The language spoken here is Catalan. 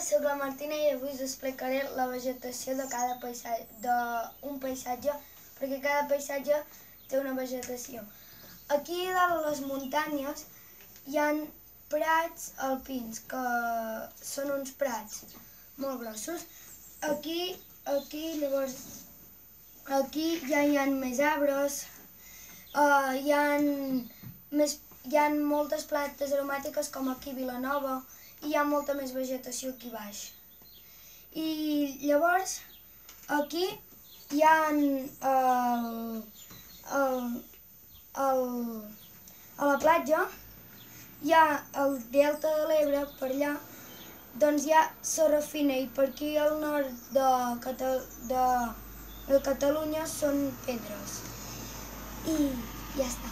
soc la Martina i avui us explicaré la vegetació de cada d'un paisatge, perquè cada paisatge té una vegetació. Aquí dalt a les muntanyes hi ha prats alpins, que són uns prats molt grossos. Aquí ja hi ha més arbres, hi ha moltes plantes aromàtiques com aquí a Vilanova, i hi ha molta més vegetació aquí baix. I llavors aquí hi ha a la platja, hi ha el delta de l'Ebre, per allà, doncs hi ha sorra fina, i per aquí al nord de Catalunya són pedres. I ja està.